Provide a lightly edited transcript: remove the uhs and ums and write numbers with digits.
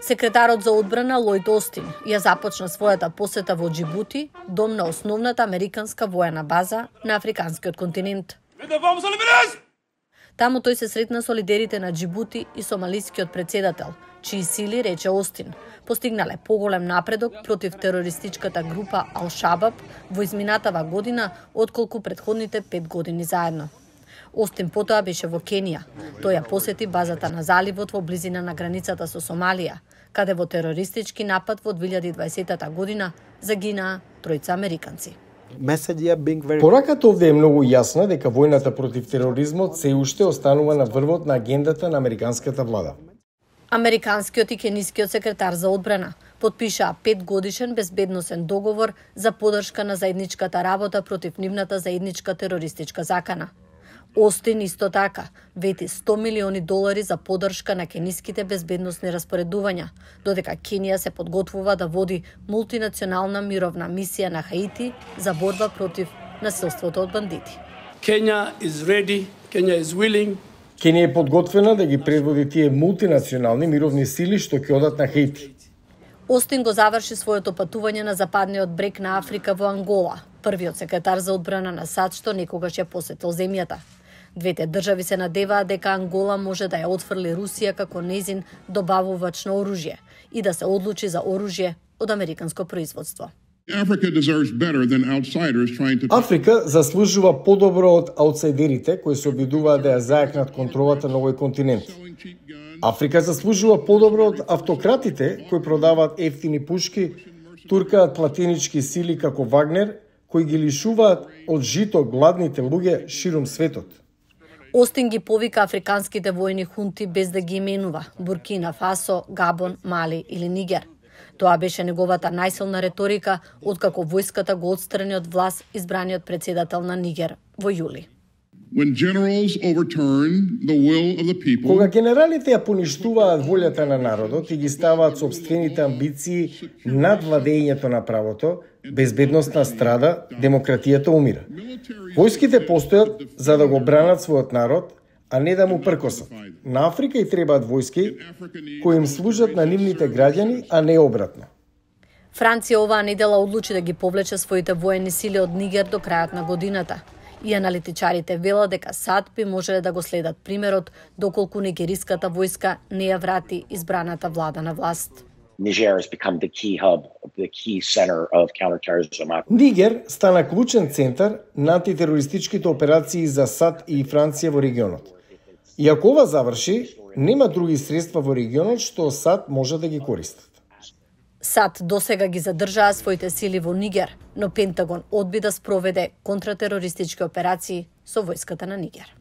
Секретарот за одбрана Лојд Остин ја започна својата посета во Џибути, дом на основната американска воена база на африканскиот континент. Таму тој се сретна со лидерите на Џибути и сомалискиот председател, чии сили, рече Остин, постигнале поголем напредок против терористичката група Ал-Шабаб во изминатава година отколку претходните 5 години заедно. Остин потоа беше во Кенија. Тој ја посети базата на заливот во близина на границата со Сомалија, каде во терористички напад во 2020 година загинаа 3 американци. Пораката овде е многу јасна дека војната против тероризмот се уште останува на врвот на агендата на американската влада. Американскиот и кенискиот секретар за одбрана потпишаа 5-годишен безбедносен договор за поддршка на заедничката работа против нивната заедничка терористичка закана. Остин исто така вети $100 милиони за поддршка на кениските безбедносни распоредувања, додека Кенија се подготвува да води мултинационална мировна мисија на Хаити за борба против насилството од бандити. Kenya is ready, Kenya is willing. Кенија е подготвена да ги предводи тие мултинационални мировни сили што ќе одат на Хаити. Остин го заврши своето патување на западниот брег на Африка во Ангола, првиот секретар за одбрана на САД што некогаш ја посетил земјата. Двете држави се надеваат дека Ангола може да ја отфрли Русија како нејзин добавувач на оружје и да се одлучи за оружје од американско производство. Африка заслужува подобро од аутсайдерите кои се обидуваат да ја зајакнат контролата на овој континент. Африка заслужува подобро од автократите кои продаваат ефтини пушки, туркаат платенички сили како Вагнер, кои ги лишуваат од жито гладните луѓе ширум светот. Остин ги повика африканските војни хунти без да ги именува – Буркина Фасо, Габон, Мали или Нигер. Тоа беше неговата најсилна реторика откако војската го отстрани од власт избраниот председател на Нигер во јули. Кога генералите ја поништуваат волјата на народот и ги ставаат сопствените амбиции над владењето на правото, безбедноста страда, демократијата умира. Војските постојат за да го бранат својот народ, а не да му пркосат. На Африка и требаат војски кои им служат на нивните граѓани, а не обратно. Франција оваа недела одлучи да ги повлече своите воени сили од Нигер до крајот на годината. И аналитичарите велат дека САД би можеле да го следат примерот доколку нигериската војска не ја врати избраната влада на власт. Нигер стана клучен центар на антитерористичките операции за САД и Франција во регионот. И ако ова заврши, нема други средства во регионот што САД може да ги користат. САД досега ги задржаа своите сили во Нигер, но Пентагон одби да спроведе контратерористички операции со војската на Нигер.